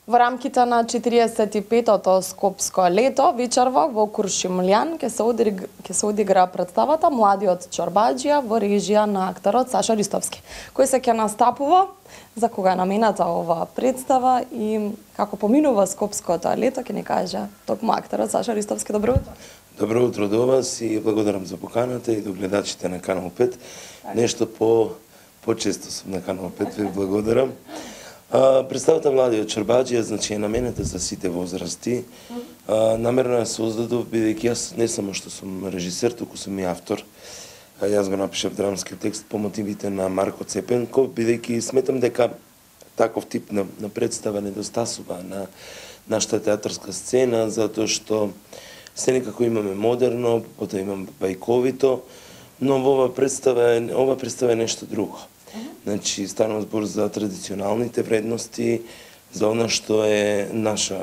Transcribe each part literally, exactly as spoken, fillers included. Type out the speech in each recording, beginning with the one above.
Во рамките на четириесет и петото Скопско лето, вечерва во Куршумлијан ќе се одигра, ќе се одигра представата Младиот чорбаџија во режија на акторот Саша Ристовски, кој се ќе настапува, за кога е намената оваа представа и како поминува Скопското лето, ќе ни каже токму акторот Саша Ристовски. Добро утро. Добро утро до вас и благодарам за поканата и до гледачите на Канал пет. Нешто по почесто сум на Канал пет, ви благодарам. А, представата Младиот чорбаџија, значи е наменета за сите возрасти. А, намерно ја создадов, бидејќи јас не само што сум режисер, туку сум и автор. А, јас го напишав драмски текст по мотивите на Марко Цепенков, бидејќи сметам дека таков тип на, на представа недостасува на нашата театарска сцена, затоа што се некако имаме модерно, потоа имаме бајковито, но во ова представа е, ова представа е нешто друго. Значи, станува збор за традиционалните вредности, за она што е наша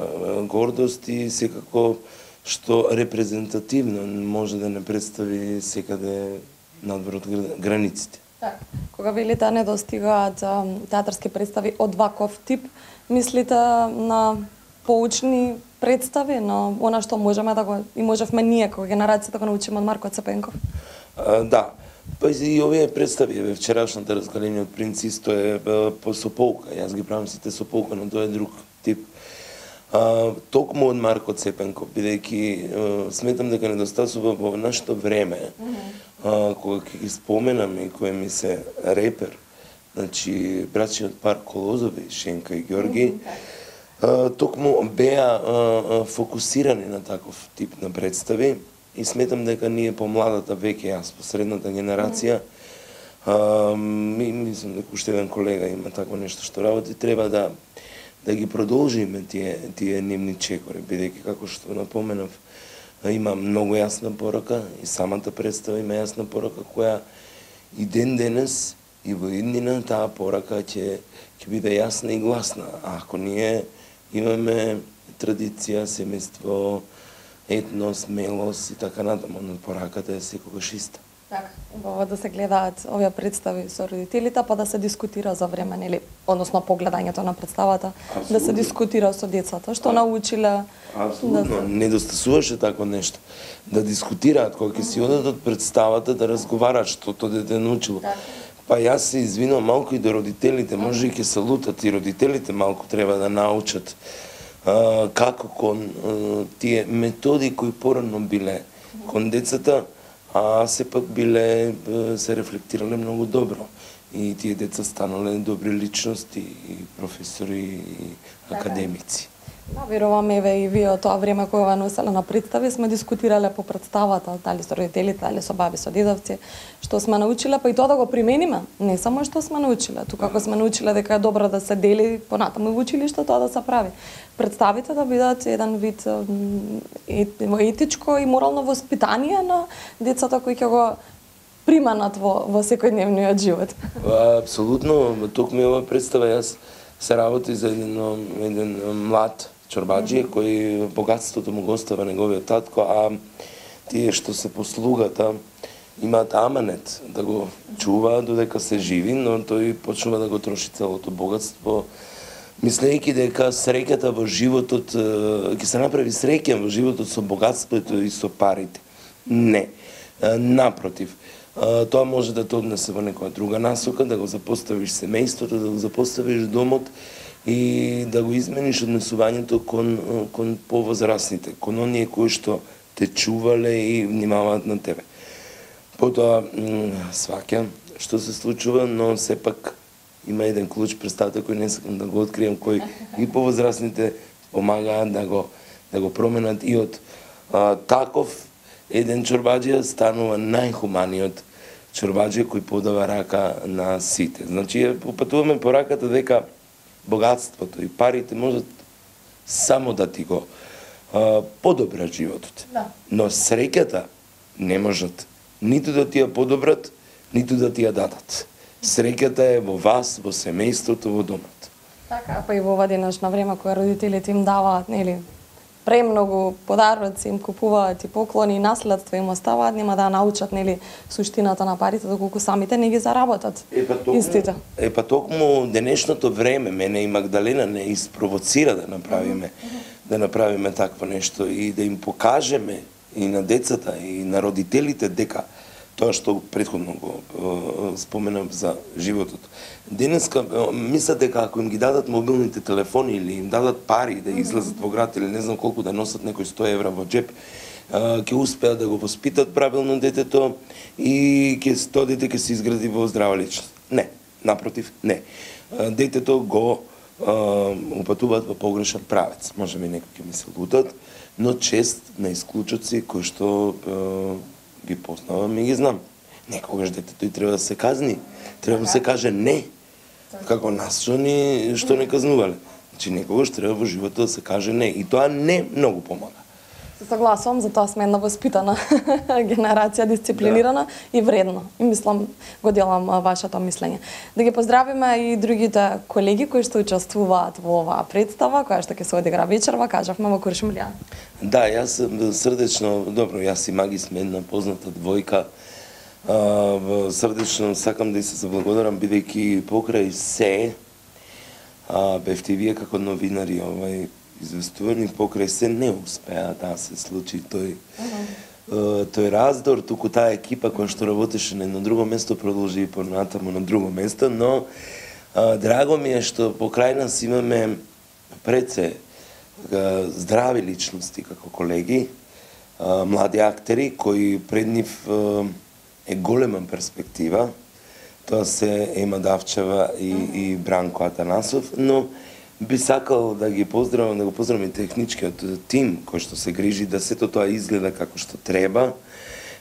гордост и секако што репрезентативно може да не представи секаде надвор од границите. Так. Кога велите не достигаат театарски представи од ваков тип, мислите на поучни представи, но она што можеме да го и можевме ние како генерација да го научиме од Марко Цепенков? А, да. Па и овие представи, еве вчерашната разгаление од Принц исто е по сополка. Јас ги правам сите сополка, но тоа е друг тип. А, токму од Марко Цепенков, бидејќи сметам дека недостасува во нашето време, mm -hmm. а, кога ќе ги споменам и кој ми се репер, значи братчиот пар Колозови, Шенка и Ѓорги, mm -hmm. а, токму беа а, фокусирани на таков тип на представи. И сметам дека ние помладата веќе, јас по средната генерација, а, ми, мислам дека уште еден колега има такво нешто што работи, треба да да ги продолжиме тие тие нивни чекори, бидејќи како што напоменав, има многу јасна порака и самата представа има јасна порака која и ден денес и во иднина таа порака ќе ќе биде јасна и гласна. А ако ние имаме традиција, семејство, етнос, мелос и така натаму, но пораката е секогаш иста. Така, убаво да се гледаат овие представи со родителите, па да се дискутира за време, нели, односно погледањето на представата, Абсолютно. Да се дискутира со децата, што а, научиле. Апсолутно, да... недостасуваше тако нешто. Да дискутираат, кога ќе си одат од представата, да разговараат што тоа дете научило. Так. Па јас се извинувам малку и до родителите, може и ќе се лутат и родителите малку треба да научат Uh, како кон uh, тие методи кои порано биле кон децата, а сепак биле, се рефлектирале многу добро. И тие деца станале добри личности, и професори, и академици. Да, верувам, еве и вие од тоа време кога носеле на представи сме дискутирале по представата, дали со родителите, дали со баби, со дедовци, што сме научиле, па и тоа да го примениме. Не само што сме научиле, тука како сме научиле дека е добро да се дели понатаму во училиште, тоа да се прави. Представите да бидат еден вид етичко и морално воспитание на децата кои ќе го приманат во, во секојдневниот живот. Апсолутно, токму ова представа јас се работи за еден, еден млад чорбаџија кој богатството му го остава неговиот татко, а тие што се послугата имаат аманет да го чуваат додека се живи, но тој почнува да го троши целото богатство, мислејќи дека среќата во животот ќе се направи среќен во животот со богатството и со парите. Не. Напротив, тоа може да те однесе во некоја друга насока, да го запоставиш семејството, да го запоставиш домот и да го измениш однесувањето кон, кон повозрасните, кон оние кои што те чувале и внимаваат на тебе. Потоа, сваќам што се случува, но сепак има еден клуч, представете, кој не сакам да го открием, кој и повозрасните помагаат да го, да го променат и од а, таков еден чорбаџија станува најхуманиот чорбаџија кој подава рака на сите. Значи, упатуваме по раката дека богатството и парите можат само да ти го а, подобрат животот. Да. Но среќата не можат ниту да ти ја подобрат, ниту да ти ја дадат. Среќата е во вас, во семејството, во домот. Така, па и во ова денешно време кога родителите им даваат, нели, премногу подароци им купуваат и поклони и наследство им оставаат, нема да научат нели суштината на парите доколку самите не ги заработат. Е па токму, истите. Е па токму денешното време мене и Магдалена не испровоцира да направиме mm -hmm. да направиме такво нешто и да им покажеме и на децата и на родителите дека тоа што претходно го е, споменав за животот. Денеска мислат дека ако им ги дадат мобилните телефони или им дадат пари да излезат во град или не знам колку да носат некои сто евра во джеп, ќе успеат да го воспитат правилно детето и ќе тоа дете ќе се изгради во здрава личност. Не, напротив, не. Детето го упатуваат во погрешен правец. Може би некои ќе ми се лутат, но чест на исклучоци кои што ги познавам и ги знам. Некогаш детето и треба да се казни. Треба да се каже не. Како нас што ни што не казнувале. Значи некогаш треба во животот да се каже не и тоа не многу помага. Се согласувам, затоа сме една воспитана генерација, дисциплинирана да. И вредна. И мислам, го делам вашето мислење. Да ги поздравиме и другите колеги кои што учествуваат во оваа представа, која што ќе се одигра вечерва, кажавме во Куршумлијан. Да, јас срдечно, добро, јас и Маги сме една позната двојка. А, срдечно сакам да и се заблагодарам, бидејќи покрај се а, бевте вие како новинари овај известувани, покрај се не успеа да се случи тој uh-huh. тој раздор, туку таа екипа која што работеше на едно друго место продолжи и понатаму на друго место, но а, драго ми е што покрај нас имаме пред се а, здрави личности како колеги, а, млади актери кои пред нив а, е голема перспектива. Тоа се Ема Давчева и, uh-huh. и Бранко Атанасов, но би сакал да ги поздравам, да го поздравам и техничкиот тим кој што се грижи да сето тоа изгледа како што треба,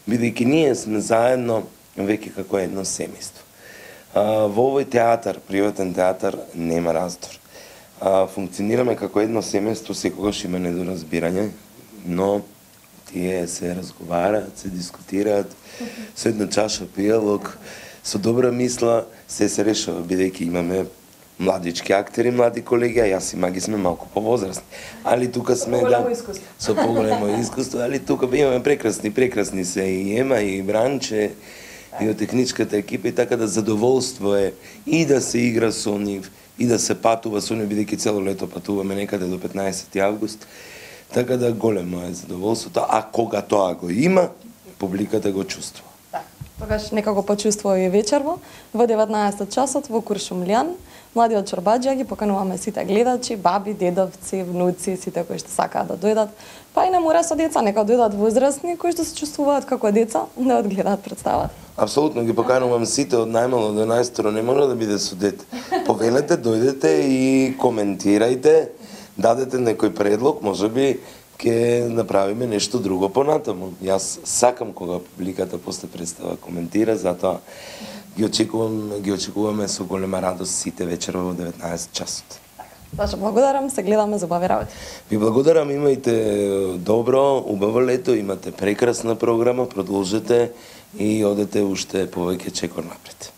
бидејќи ние сме заедно веќе како едно семејство. Во овој театар, приватен театар, нема раздор. А, функционираме како едно семејство, секогаш има недоразбирање, но тие се разговараат, се дискутираат, со една чаша пијалок, со добра мисла, се се решава, бидејќи имаме младички актери, млади колеги, а јас и Маги сме малку повозрастни. Али тука сме да со поголемо искуство, али тука имаме прекрасни, прекрасни се и Ема и Бранче и од техничката екипа и така да задоволство е и да се игра со нив и да се патува со нив, бидејќи цело лето патуваме некаде до петнаесети август. Така да големо е задоволството, а кога тоа го има, публиката го чувствува. Тогаш нека го почувствува и вечерво во деветнаесет часот во Куршумлијан. Младиот Чорбаџија ги покануваме сите гледачи, баби, дедовци, внуци, сите кои што сакаат да дојдат. Па и не мора со деца, нека дојдат возрастни кои што се чувствуваат како деца да одгледаат представата. Апсолутно ги поканувам сите од најмало до најстаро, не мора да биде со дете. Повелете, дојдете и коментирајте, дадете некој предлог, можеби ќе направиме нешто друго понатаму. Јас сакам кога публиката после представа коментира, затоа ги очекувам, ги очекуваме со голема радост сите вечерва во деветнаесет часот. Баш благодарам, се гледаме за убави работи. Ви благодарам, имајте добро, убаво лето, имате прекрасна програма, продолжете и одете уште повеќе чекор напред.